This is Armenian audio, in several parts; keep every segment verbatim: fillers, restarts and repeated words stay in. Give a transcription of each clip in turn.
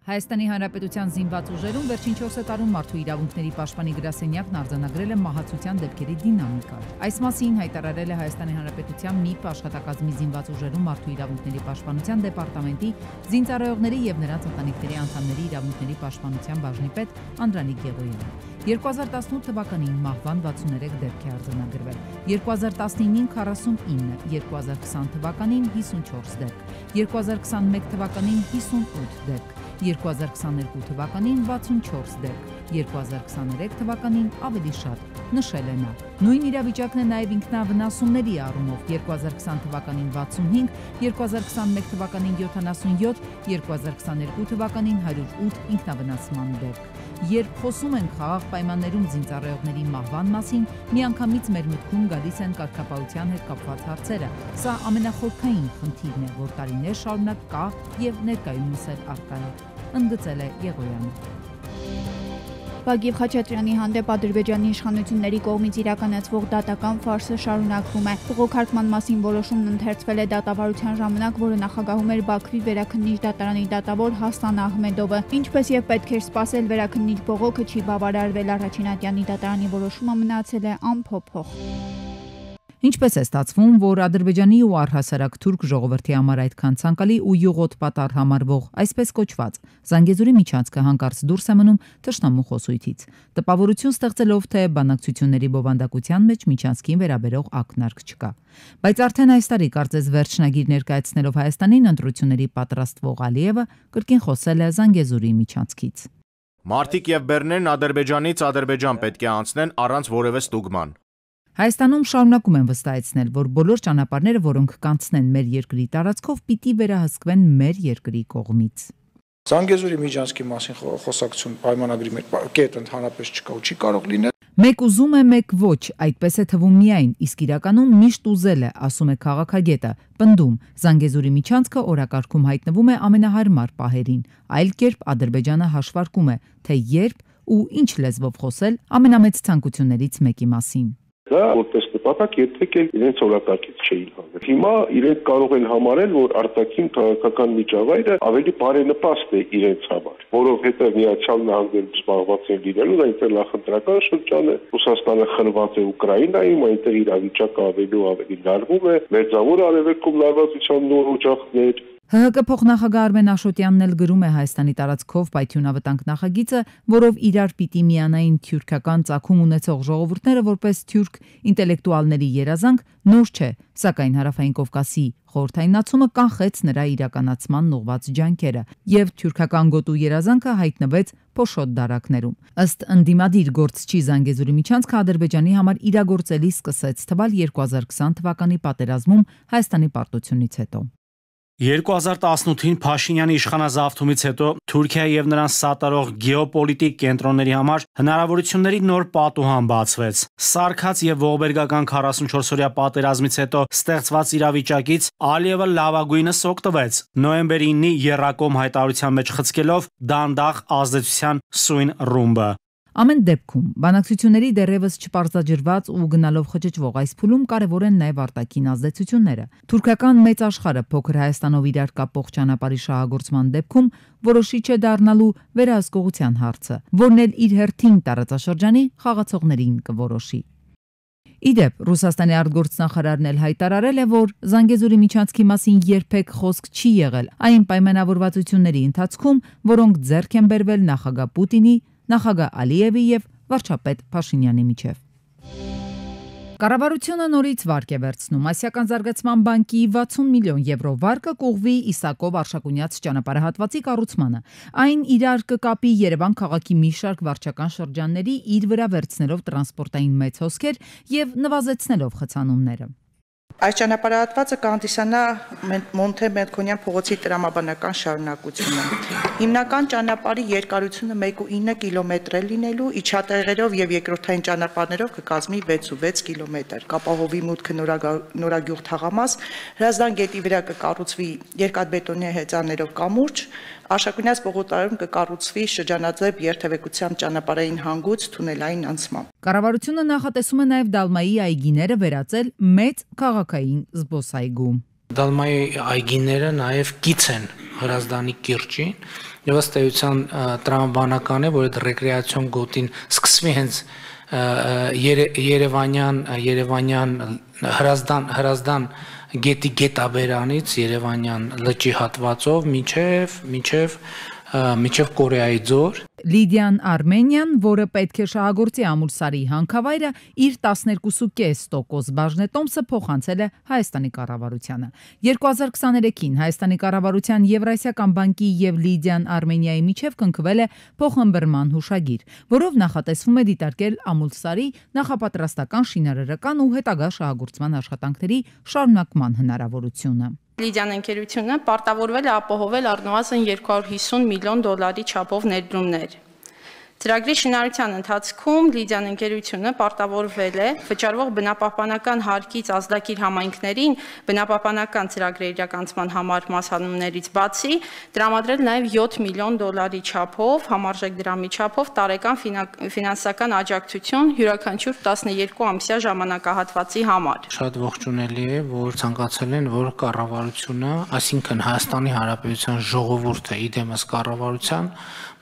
Հայաստանի Հանրապետության զինված ուժերում վերջին չորս տարում մարդու իրավունքների պաշտպանի գրասենյակն արձանագրել է մահացության դեպքերի դինամիկա։ Այս մասին հայտարարել է Հայաստանի Հանրապետության ՄԻՊ աշխատակազմի զինված ուժերում մարդու իրավունքների պաշտպանության դեպարտամենտի զինծառայողների եւ նրանց ընտանիքների անդամների իրավունքների պաշտպանության բաժնի պետ Անդրանիկ Գեղոյանը։ երկու հազար տասնութ թվականին մահվան վաթսուներեք դեպք է արձանագրվել, երկու հազար տասնինին քառասունինը, երկու հազար քսան թվականին հիսունչորս դեպք, երկու հազար քսանմեկ թվականին հիսունութ դեպք, երկու հազար քսաներկու թվականին վաթսունչորս դեպք, երկու հազար քսաներեք թվականին ավելի շատ, նշել է նա։ Նույն իրավիճակն է նաև ինքնավնասումների առումով երկու հազար քսան թվականին վաթսունհինգ, երկու հազար քսանմեկ թվականին յոթանասունյոթ, երկու հազար քսաներկու թվականին հարյուր ութ ինքնավնասման դեպք։ Երբ խոսում ենք խաղաղ պայմաններում զինծառայողների մահվան մասին, միանգամից մեր մտքում գալիս են կարգապահության հետ կապված հարցերը։ Սա ամենախորքային խնդիրն է, որ տարիներ շարունակ կա եւ ներկայումս էլ առկա է, ընդգծել է Եղոյանը։ Վագիվ Խաչատրյանի հանդեպ Ադրբեջանի իշխանությունների կողմից իրականացվող դատական ֆարսը շարունակվում է։ Բողոքարկման մասին որոշումն ընթերցվել է դատավարության ժամանակ, որը նախագահում էր Բաքվի վերաքննիչ դատարանի դատավոր Հասան Ահմեդովը։ Ինչպես եւ պետք էր սպասել, վերաքննիչ բողոքը չի բավարարվել, առաջին ատյանի դատարանի որոշումը մնացել է անփոփոխ։ Ինչպես է ստացվում, որ Ադրբեջանի ու առհասարակ թուրք ժողովրդի համար այդքան ցանկալի ու յուղոտ պատառ համարվող, այսպես կոչված, Զանգեզուրի միջանցքը հանկարծ դուրս է մնում թշնամու խոսույթից, տպավորություն ստեղծելով, թե բանակցությունների բովանդակության մեջ միջանցքին վերաբերող ակնարկ չկա։ Բայց արդեն այս տարի կարծես վերջնագիր ներկայացնելով Հայաստանին ընտրությունների պատրաստվող Ալիևը կրկին խոսել է Զանգեզուրի միջանցքից։ Մարտիկ եւ բեռներն Ադրբեջանից Ադրբեջան պետք է անցնեն առանց որևէ ստուգման։ Հայաստանում շարունակում են վստահեցնել, որ բոլոր ճանապարհները, որոնք կանցնեն մեր երկրի տարածքով, պիտի վերահսկվեն մեր երկրի կողմից։ Զանգեզուրի միջանցքի մասին խոսակցություն պայմանագրի մեջ կետ ընդհանրապես չկա ու չի կարող լինել։ Մեկ ուզում է, մեկ ոչ, այդպես է թվում միայն, իսկ իրականում միշտ ուզել է, ասում է քաղաքագետը, պնդում, Զանգեզուրի միջանցքը օրակարգում հայտնվում է ամենահարմար պահերին, այլ կերպ Ադրբեջանը հաշվարկում է, թե երբ ու ինչ լեզվով խոսել ամենամեծ ցանկություններից մեկի մասին։ Դա որպես նպատակ երբեք էլ իրենց օրակարգից չէին հանել։ Հիմա իրենք կարող են համարել, որ արտաքին քաղաքական միջավայրը ավելի բարենպաստ է իրենց համար, որովհետև Միացյալ Նահանգներում զբաղված են լինելու, այնտեղ նախընտրական շրջան է, Ռուսաստանը խրված է Ուկրաինայում, այնտեղ իրավիճակը ավելի ու ավելի լարվում է, Մերձավոր Արևելքում լարվածության նոր օջախներ։ Հ Հ Կ փոխնախագահ Արմեն Աշոտյանն էլ գրում է Հայաստանի տարածքով պայթյունավտանգ նախագիծը, որով իրար պիտի միանային թյուրքական ծագում ունեցող ժողովուրդները որպես թյուրք ինտելեկտուալների երազանք, նոր չէ, սակայն Հարավային Կովկասի խորհրդայնացումը կանխեց նրա իրականացման ուղղված ջանքերը, եւ թյուրքական գոտու երազանքը հայտնվեց փոշոտ դարակներում։ Ըստ ընդդիմադիր գործչի Զանգեզուրի միջանցքը Ադրբեջանի համար իրագործելի սկսեց թվալ երկու հազար քսան թվականի պատերազմում Հայաստանի պարտությունից հետո։ երկու հազար տասնութին Փաշինյանի իշխանազավթումից հետո Թուրքիայի եւ նրան սատարող գեոպոլիտիկ կենտրոնների համար հնարավորությունների նոր պատուհան բացվեց։ Սարգած եւ ողբերգական քառասունչորսօրյա պատերազմից հետո ստեղծված իրավիճակից Ալիևը լավագույնս օգտվեց։ Նոյեմբերի ինի Եռակոմ հայտարարության մեջ խցկելով դանդաղ ազդեցության սույն ռումբը։ Ամեն դեպքում բանակցությունների դեռևս չպարզաջրված ու գնալով խճճվող այս փուլում կարևոր են նաև արտաքին ազդեցությունները։ Թուրքական մեծ աշխարհը փոքր Հայաստանով իրար կապող ճանապարհի շահագործման դեպքում որոշիչ է դառնալու վերահսկողության հարցը, որն էլ իր հերթին տարածաշրջանի խաղացողներին կորոշի։ Իդեպ Ռուսաստանի արտգործնախարարն էլ հայտարարել է, որ Զանգեզուրի միջանցքի մասին երբեք խոսք չի եղել այն պայմանավորվածությունների ընթացքում, որոնք ձեռք են բերվել նախագահ Պուտինի, նախագահ Ալիևի եւ վարչապետ Փաշինյանի միջև։ Կառավարությունը նորից վարկ է վերցնում։ Ասիական զարգացման բանկի վաթսուն միլիոն եվրո վարկը կուղվի Իսակով Արշակունյաց ճանապարհահատվածի կառուցմանը։ Այն իրար կկապի Երևան քաղաքի մի շարք վարչական շրջանների, իր վրա վերցնելով տրանսպորտային մեծ հոսքեր եւ նվազեցնելով խցանումները։ Այս ճանապարհահատվածը կհանդիսանա Մոնթե Մելքոնյան փողոցի տրամաբանական շարունակությունը։ Հիմնական ճանապարհի երկարությունը մեկ կόμμα ինը կիլոմետր է լինելու, իջատեղերով եւ երկրորդային ճանապարհներով կկազմի վեց կόμma վեց կիլոմետր։ Կապահովի մուտքը Նորագյուղ թաղամաս, Հրազդան գետի վրա կկառուցվի երկաթբետոնե հեծաններով կամուրջ, Արշակունյաց պողոտայում կկառուցվի շրջանաձև երթևեկությամբ ճանապարհային հանգույց թունելային անցմամբ։ Կառավարությունը նախատեսում է նաև Դալմայի այգիները վերածել մեծ քաղաքային զբոսայգու։ Դալմայի այգիները նաև կից են Հրազդանի կիրճին եւ ըստ էության տրամաբանական է, որ այդ ռեկրեացիոն գոտին սկսվի հենց Երևանյան Երևանյան հրազդան հրազդան գետի գետաբերանից Երևանյան լճի հատվածով միջև միջև միջև Կորեայի ձոր Լիդիան Արմենիան, որը պետք է շահագործի Ամուլսարի հանքավայրը, իր տասներկու կես տոկոս բաժնետոմսը փոխանցել է Հայաստանի կառավարությանը։ երկու հազար քսաներեքին Հայաստանի կառավարության Եվրասիական բանկի եւ Լիդիան Արմենիայի միջև կնքվել է փոխըմբռնման հուշագիր, որով նախատեսվում է դիտարկել Ամուլսարի նախապատրաստական, շինարարական ու հետագա շահագործման աշխատանքների շարունակման հնարավորությունը։ Լիդիան ընկերությունը պարտավորվել է ապահովել առնվազն երկու հարյուր հիսուն միլիոն դոլարի չափով ներդրումներ։ Ծրագրի շինարարության ընթացքում Լիդիան ընկերությունը պարտավորվել է վճարվող բնապահպանական հարկից ազդակիր համայնքներին բնապահպանական ծրագրերի իրականացման համար մասհանումներից բացի տրամադրել նաև յոթ միլիոն դոլարի չափով համարժեք դրամի չափով տարեկան ֆինանսական աջակցություն յուրաքանչյուր տասներկու ամսյա ժամանակահատվածի համար։ Շատ ողջունելի է, որ ցանկացել են, որ կառավարությունը, այսինքն Հայաստանի Հանրապետության ժողովուրդը իդեմս կառավարության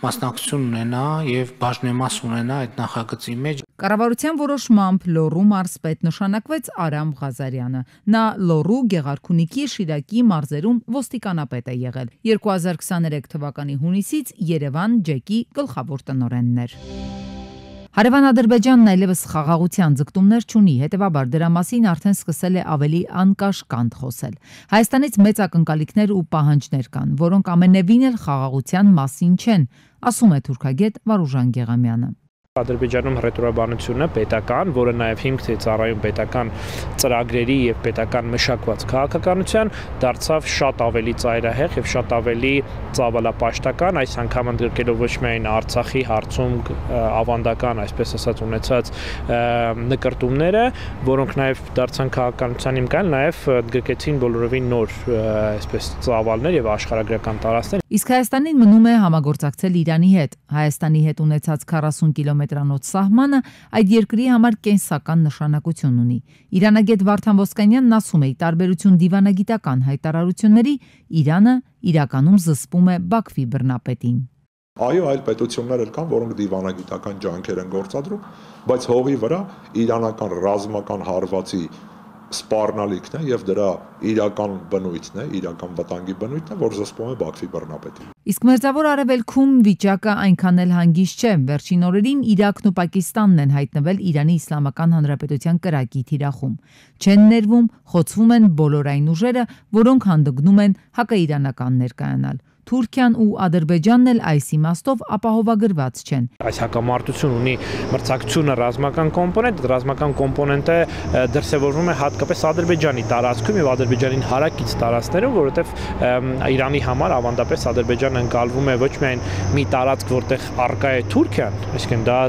մասնակցություն ունենա եւ բաժնեմաս ունենա այդ նախագծի մեջ։ Կառավարության որոշմամբ Լոռու մարզպետ նշանակվեց Արամ Ղազարյանը։ Նա Լոռու, Գեղարքունիքի, Շիրակի մարզերում ոստիկանապետ է եղել։ երկու հազար քսաներեք թվականի հունիսից Երևան ջեկի գլխավոր տնօրենն էր։ Հարևան Ադրբեջանն այլևս խաղաղության ձգտումներ չունի, հետևաբար դրա մասին արդեն սկսել է ավելի անկաշկանդ խոսել։ Հայաստանից մեծ ակնկալիքներ ու պահանջներ կան, որոնք ամենևին էլ խաղաղության մասին չեն, ասում է թուրքագետ Վարուժան Գեղամյանը։ Ադրբեջանում հռետորաբանությունը պետական, որը նաև հիմք է ծառայում պետական ծրագրերի եւ պետական մշակված քաղաքականության, դարձավ շատ ավելի ծայրահեղ եւ շատ ավելի ծավալապաշտական, այս անգամ ընդգրկելով ոչ միայն Արցախի հարցում ավանդական, այսպես ասած, ունեցած նկարտումները, որոնք նաև դարձան քաղաքականության հիմքան, նաև ընդգրկեցին բոլորովին նոր, այսպես ծավալներ եւ աշխարհագրական տարածքներ։ Իսկ Հայաստանին մնում է համագործակցել Իրանի հետ։ Հայաստանի հետ ունեցած քառասուն կիլոմետրանոց սահմանը այդ երկրի համար կենսական նշանակություն ունի։ Իրանագետ Վարդան Ոսկանյանն ասում է, ի տարբերություն դիվանագիտական հայտարարությունների, Իրանը իրականում զսպում է Բաքվի բռնապետին։ Այո, այլ պետություններ էլ կան, որոնք դիվանագիտական ջանքեր են գործադրում, բայց հողի վրա իրանական ռազմական հարվածի սպառնալիքն է եւ դրա իրական բնույթն է, իրական վտանգի բնույթն է, որ զսպում է Բաքվի բռնապետին։ Իսկ մերձավոր Արևելքում վիճակը այնքան էլ հանգիստ չէ։ Վերջին օրերին Իրաքն ու Պակիստանն են հայտնվել Իրանի Իսլամական Հանրապետության կրակի թիրախում։ Չեն ներվում, խոցվում են բոլոր այն ուժերը, որոնք հանդգնում են հակաիրանական ներկայանալ։ Թուրքիան ու Ադրբեջանն էլ այս իմաստով ապահովագրված չեն։ Այս հակամարտությունը ունի մրցակցությունը ռազմական կոմպոնենտ, ռազմական կոմպոնենտը դրսևորվում է հատկապես Ադրբեջանի տարածքում եւ Ադրբեջանին հարակից տարածքներում, որովհետեւ Իրանի համար ավանդապես Ադրբեջանը ընկալվում է ոչ միայն մի տարածք, որտեղ առկա է Թուրքիան, այսինքն դա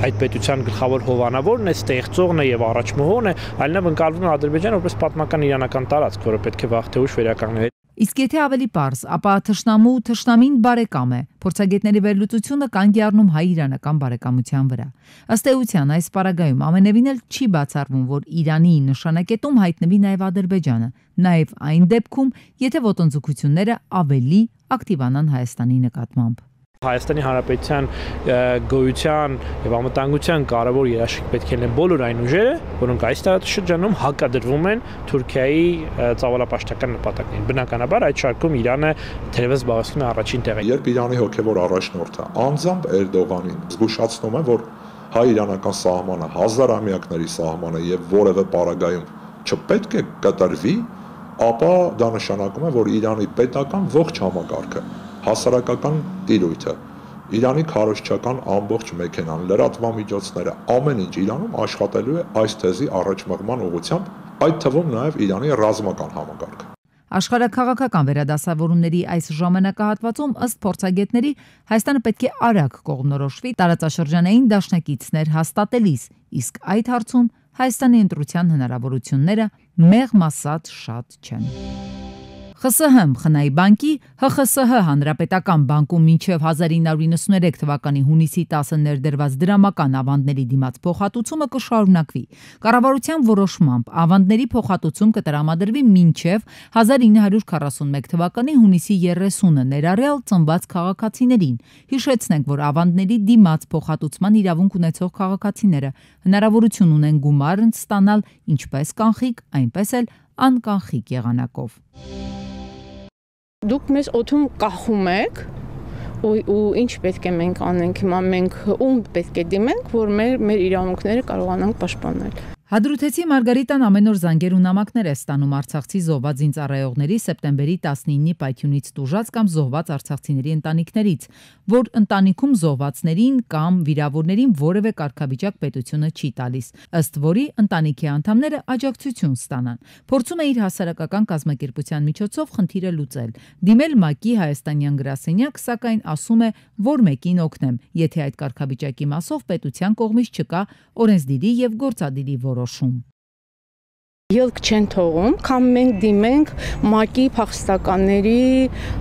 այդ պետության գլխավոր հովանավորն է, ստեղծողն է եւ առաջմահողն է, այլնավ ընկալվում է Ադրբեջանը որպես պատմական իրանական տարածք, որը պետք է վաղ թե ուշ վերականգնվի։ Իսկ եթե ավելի պարզ, ապա թշնամու թշնամին բարեկամ է։ Փորձագետների վերլուծությունը կանգ է առնում հայ-իրանական բարեկամության վրա։ Ըստ էության այս պարագայում ամենևին էլ չի բացառվում, որ Իրանի նշանակետում հայտնվի նաև Ադրբեջանը, նաև այն դեպքում, եթե ոտնձգությունները ավելի ակտիվանան Հայաստանի նկատմամբ։ Հայաստանի Հանրապետության գոյության եւ անվտանգության կարևոր երաշխիք պետք է լինեն բոլոր այն ուժերը, որոնք այս տարածաշրջանում հակադրվում են Թուրքիայի ծավալապաշտական նպատակներին։ Բնականաբար այդ շարքում Իրանը թերևս զբաղեցնում է առաջին տեղը։ Երբ Իրանի հոգևոր առաջնորդը անձամբ Էրդողանին զգուշացնում է, որ հայ-իրանական սահմանը հազարամյակների սահմանը եւ որևէ պարագայում չպետք է կտրվի, ապա դա նշանակում է, որ Իրանի պետական ողջ համակարգը, հասարակական տիրույթը, Իրանի քարոզչական ամբողջ մեքենան, լրատվամիջոցները, ամեն ինչ Իրանում աշխատելու է այս թեզի առաջմղման ուղղությամբ, այդ թվում նաև Իրանի ռազմական համակարգը։ Աշխարհաքաղաքական վերադասավորումների այս ժամանակահատվածում ըստ փորձագետների Հայաստանը պետք է արագ կողմնորոշվի տարածաշրջանային դաշնակիցներ հաստատելիս, իսկ այդ հարցում Հայաստանի ընտրության հնարավորությունները մեղմ ասած շատ չեն։ Խ С Հ Խնայի բանկի Հ Խ С Հ հանրապետական բանկում մինչև հազար ինը հարյուր իննսուններեք թվականի հունիսի տասը ներդրված դրամական ավանդների դիմաց փոխհատուցումը կշարունակվի։ Կառավարության որոշմամբ ավանդների փոխհատուցում կտրամադրվի մինչև հազար ինը հարյուր քառասունմեկ թվականի հունիսի երեսունը ներառյալ ծնված քաղաքացիներին։ Հիշեցնենք, որ ավանդների դիմաց փոխհատուցման իրավունք ունեցող քաղաքացիները հնարավորություն ունեն գումար ստանալ ինչպես կանխիկ, այնպես էլ անկանխիկ եղանակով։ Դուք մեզ օդում կախում եք ու, ու ինչ պետք է մենք անենք, հիմա մենք ում պետք է դիմենք, որ մեր, մեր իրավունքները կարողանանք պաշտպանել։ Հադրութեցի Մարգարիտան ամեն օր զանգեր ու նամակներ է ստանում արցախցի զոհված զինծառայողների սեպտեմբերի տասնինի պայթյունից տուժած կամ զոհված արցախցիների ընտանիքներից, որ ընտանիքում զոհվածներին կամ վիրավորներին որևէ կարգավիճակ պետությունը չի տալիս, ըստ որի ընտանիքի անդամները աջակցություն ստանան։ Փորձում է իր հասարակական կազմակերպության միջոցով խնդիրը լուծել։ Դիմել ՄԱԿ-ի հայաստանյան գրասենյակ, սակայն ասում է, որ մեկին օգնեմ, եթե այդ կարգավիճակի մասով պետության կողմից չկա օրենսդիրի եւ գործադիրի որոշում։ Ելք չեն թողում, կամ մենք դիմենք ՄԱԿ-ի փախստականների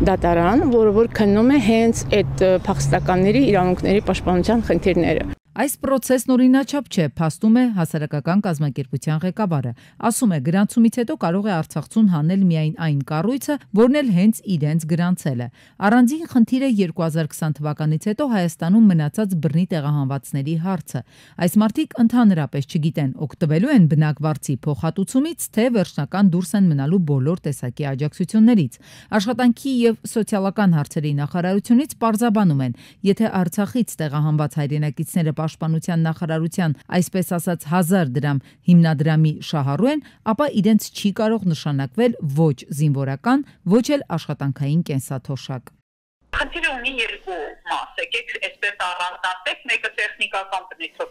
դատարան, որը որ քննում է հենց այդ փախստականների իրավունքների պաշտպանության խնդիրները։ Այս պրոցեսն օրինաչափ չէ, փաստում է հասարակական կազմակերպության ղեկավարը։ Ասում է, գրանցումից հետո կարող է Արցախցուն հանել միայն այն կառույցը, որն էլ հենց իրենց գրանցել է։ Առանձին խնդիր է երկու հազար քսան թվականից հետո Հայաստանում մնացած բռնի տեղահանվածների հարցը։ Այս մարդիկ ընդհանրապես չգիտեն օգտվելու են բնակվարձի փոխհատուցումից, թե վերջնական դուրս են մնալու բոլոր տեսակի աջակցություններից։ Աշխատանքի եւ սոցիալական հարցերի նախարարությունից պարզաբանում են, եթե Արցախից տեղահանված հայրենակիցները Պաշտպանության նախարարության այսպես ասած հազար դրամ հիմնադրամի շահառու են, ապա իրենց չի կարող նշանակվել ոչ զինվորական, ոչ էլ աշխատանքային կենսաթոշակ։ Խնդիրը ունի երկու մաս, եկեք այսպես առանձնացեք, մեկը տեխնիկական բնույթով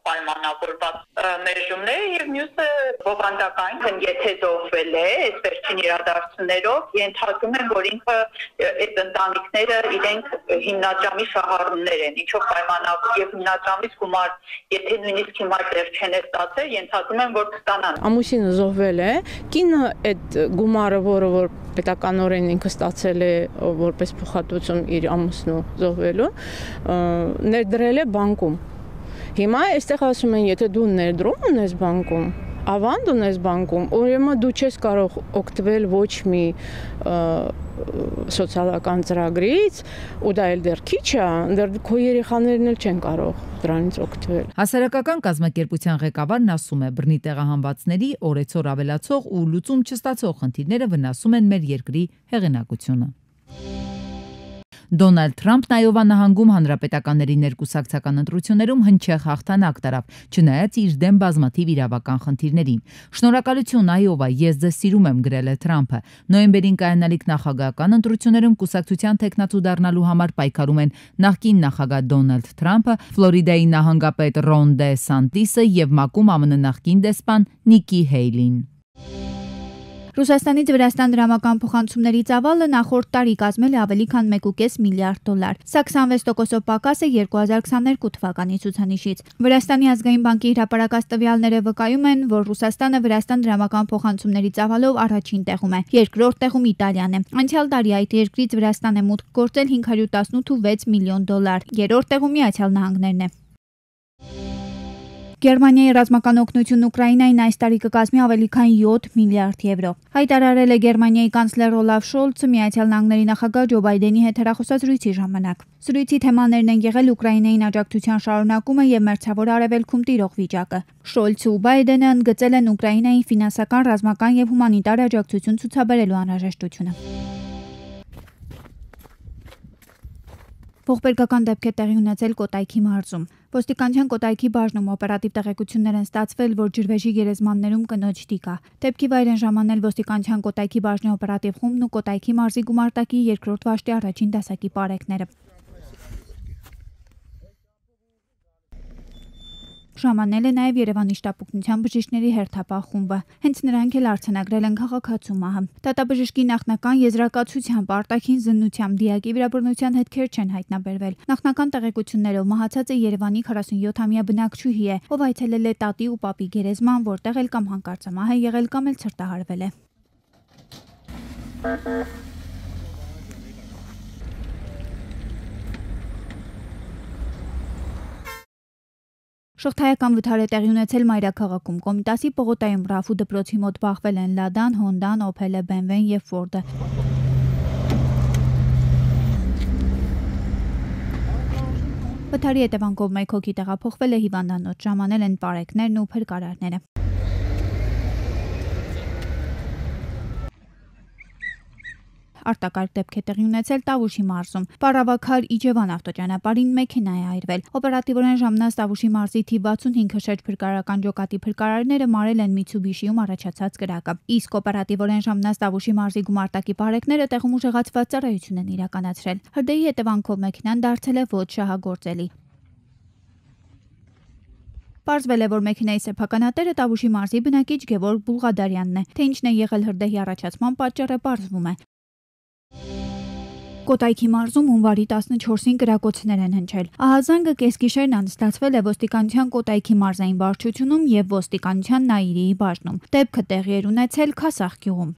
պայմանավորված մերժումներ եւ մյուսը բովանդակային, եթե զոհվել է այս վերջին իրադարձություններով, ենթադրում են, որ ինքը այդ ընտանիքները իրենք հիմնադրամի շահառուներ են, ինչով պայմանավոր եւ հիմնադրամից գումար, եթե նույնիսկ հիմա դեռ չեն ստացել, ենթադրում են, որ կստանան։ Ամուսինը զոհվել է, կինը այդ գումարը, որը որ պետականորեն ինքը ստացել է որպես փոխհատուցում իր ամուսնու զոհվելու, ներդրել է բանկում։ Հիմա այստեղ ասում են, եթե դու ներդրում ունես բանկում, ավանդ ունես բանկում, ուրեմն դու չես կարող օգտվել ոչ մի սոցիալական ծրագրից, ու դա էլ դեռ քիչ է, դեռ քո երեխաներն էլ չեն կարող դրանից օգտվել։ Հասարակական կազմակերպության ղեկավարն ասում է, բռնի տեղահանվածների օրեցօր ավելացող ու լուծում չստացող խնդիրները վնասում են մեր երկրի հեղինակությունը։ Դոնալդ Թրամփն Այովա նահանգում հանրապետականների ներկուսակցական ընտրություններում հնչեղ հաղթանակ տարավ, չնայած իր դեմ բազմաթիվ իրավական խնդիրներին։ Շնորհակալություն Այովա, ես ձեզ սիրում եմ, գրել է Թրամփը։ Նոյեմբերին կայանալիք նախագահական ընտրություններում կուսակցության տեխնացու դառնալու համար պայքարում են նախկին նախագահ Դոնալդ Թրամփը, Ֆլորիդայի նահանգապետ Ռոն Դե Սանտիսը եւ ՄԱԿ-ում ԱՄՆ նախկին դեսպան Նիկի Հեյլին։ Ռուսաստանից Վրաստան դրամական փոխանցումների ծավալը նախորդ տարի կազմել է ավելի քան մեկ կես միլիարդ դոլար։ Սա քսանվեց տոկոսով պակաս է երկու հազար քսաներկու թվականի ցուցանիշից։ Վրաստանի ազգային բանկի հրապարակած տվյալները վկայում են, որ Ռուսաստանը Վրաստան դրամական փոխանցումների ծավալով առաջին տեղում է, երկրորդ տեղում Իտալիան է։ Անցյալ տարի այդ երկրից Վրաստան է մուտք գործել հինգ հարյուր տասնութ կόμμα վեց միլիոն դոլար, երրորդ տեղում Միացյալ Նահանգներն է։ Գերմանիայի ռազմական օգնությունն Ուկրաինային այս տարի կկազմի ավելի քան յոթ միլիարդ եվրո։ Հայտարարել է Գերմանիայի կանցլեր Օլաֆ Շոլցը Միացյալ Նահանգների նախագահ Ջո Բայդենի հետ հեռախոսած զրույցի ժամանակ։ Զրույցի թեմաներն են եղել Ուկրաինային աջակցության շարունակումը եւ մերձավոր արևելքում տիրող վիճակը։ Շոլցը ու Բայդենը ընդգծել են Ուկրաինային ֆինանսական, ռազմական եւ հումանիտար աջակցություն ցուցաբերելու անհրաժեշտությունը։ Ողբերգական դեպք է տեղի ունեցել Կոտայքի մարզում։ Ոստիկանության Կոտայքի բաժնում օպերատիվ տեղեկություններ են ստացվել, որ ջրվեժի գերեզմաններում կնոջ տիկ կա։ Դեպքի վայր են ժամանել ոստիկանության Կոտայքի բաժնի օպերատիվ խումբն ու Կոտայքի մարզի գումարտակի երկրորդ վաշտի առաջին դասակի պարեկները։ Ժամանել է նաև Երևանի շտապօգնության բժիշկների հերթապահ խումբը։ Հենց նրանք էլ արձանագրել են քաղաքացու մահը։ Դատաբժշկի նախնական եզրակացությամբ արտաքին զննությամբ դիակի վիրաբռնության հետքեր չեն հայտնաբերվել։ Նախնական տեղեկություններով մահացածը Երևանի քառասունյոթամյա բնակչուհի է, ով այցելել է տատի ու պապի գերեզման, որտեղ էլ կամ հանկարծամահ է եղել, կամ էլ ցրտահարվել է։ Շղթայական վթար է տեղի ունեցել մայրաքաղաքում։ Կոմիտասի պողոտայում Ռաֆու դպրոցի մոտ բախվել են Լադան, Հոնդան, Օփելը, Բենվեն եւ Ֆորդը։ Վթարի հետևանքով մեկ հոգի տեղափոխվել է հիվանդանոց, ժամանել են պարեկներն ու փրկարարները։ Արտակարգ դեպք է տեղի ունեցել Տավուշի մարզում։ Պարավաքար Իջևան ավտոճանապարհին մեքենա է այրվել։ Օպերատիվորեն ժամանած Տավուշի մարզի թիվ վաթսունհինգ հրշեջ փրկարարական ջոկատի փրկարարները մարել են Միցուբիշիում առաջացած կրակը։ Իսկ օպերատիվորեն ժամանած Տավուշի մարզի գումարտակի բարեկները տեղում ուժեղացված ծառայություն են իրականացրել։ Հրդեհի հետևանքով մեքենան դարձել է ոչ շահագործելի։ Պարզվել է, որ մեքենայի սեփականատերը Տավուշի մարզի բնակիչ Գևորգ Բուլղադարյանն է, թե ինչն է եղել հրդեհի առաջացման պատճառը պարզվում է։ Կոտայքի մարզում հունվարի տասնչորսին կրակոցներ են հնչել։ Ահազանգը կեսգիշերն անցկացվել է ոստիկանության Կոտայքի մարզային վարչությունում եւ ոստիկանության Նաիրիի բաժնում։ Դեպքը տեղի էր ունեցել Քասախ գյուղում։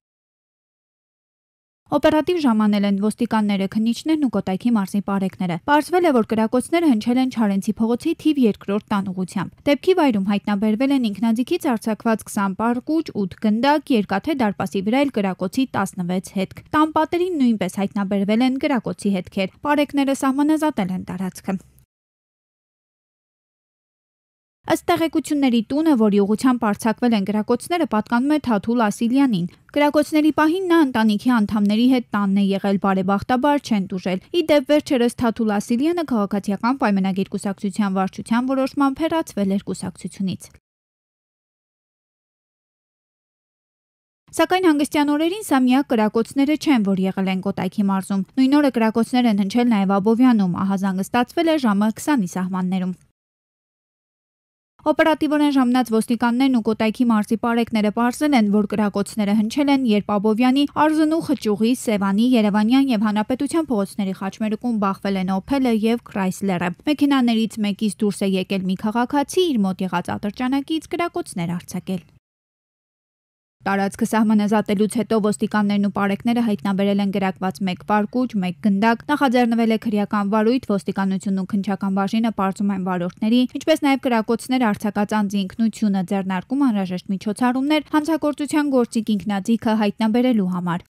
Օպերատիվ ժամանել են ոստիկանները, քննիչներն ու Կոտայքի մարզի պարեկները։ Պարզվել է, որ կրակոցները հնչել են Չարենցի փողոցի թիվ երկրորդ տան ուղղությամբ։ Դեպքի վայրում հայտնաբերվել են ինքնաձիգից արձակված քսան պարկուճ, ութ գնդակ, երկաթե դարպասի վրա էլ կրակոցի տասնվեց հետք։ Տան պատերին նույնպես հայտնաբերվել են կրակոցի հետքեր։ Պարեկները սահմանազատել են տարածքը։ Ըստ տեղեկությունների տունը, որի ուղղությամբ արձակվել են կրակոցները, պատկանում է Թաթուլ Ասիլյանին։ Կրակոցների պահին նա ընտանիքի անդամների հետ տանն է եղել, բարեբախտաբար չեն տուժել։ Ի դեպ վերջերս Թաթուլ Ասիլյանը քաղաքացիական պայմանագիր կուսակցության վարչության որոշմամբ հեռացվել էր կուսակցությունից։ Սակայն հանգստյան օրերին սա միակ կրակոցները չեն, որ եղել են Կոտայքի մարզում։ Նույն օրը կրակոցներ են հնչել նաև Աբովյանում, ահազանգը ստացվել է ժամը քսանի սահմաններում։ Օպերատիվորեն ժամանած ոստիկաններն ու Կոտայքի մարզի պարեկները պարզել են, որ կրակոցները հնչել են, երբ Աբովյանի, Արզնու, Խճուղի, Սևանի, Երևանյան եւ Հանրապետության փողոցների խաչմերուկում բախվել են Օփելը եւ Քրայսլերը։ Մեքենաներից մեկից դուրս է եկել մի քաղաքացի, իր մոտ եղած ատրճանակից կրակոցներ արձակել։ Տարածքը սահմանազատելուց հետո ոստիկաններն ու պարեկները հայտնաբերել են գրակված մեկ պարկուճ, մեկ գնդակ, նախաձեռնվել է քրեական վարույթ, ոստիկանությունն ու քննչական բաժինը պարզում են վարորդների, ինչպես նաև կրակոցներ արձակած անձի ինքնությունը, ձեռնարկում անհրաժեշտ միջոցառումներ հանցագործության գործիք ինքնաձիգը հայտնաբերելու համար։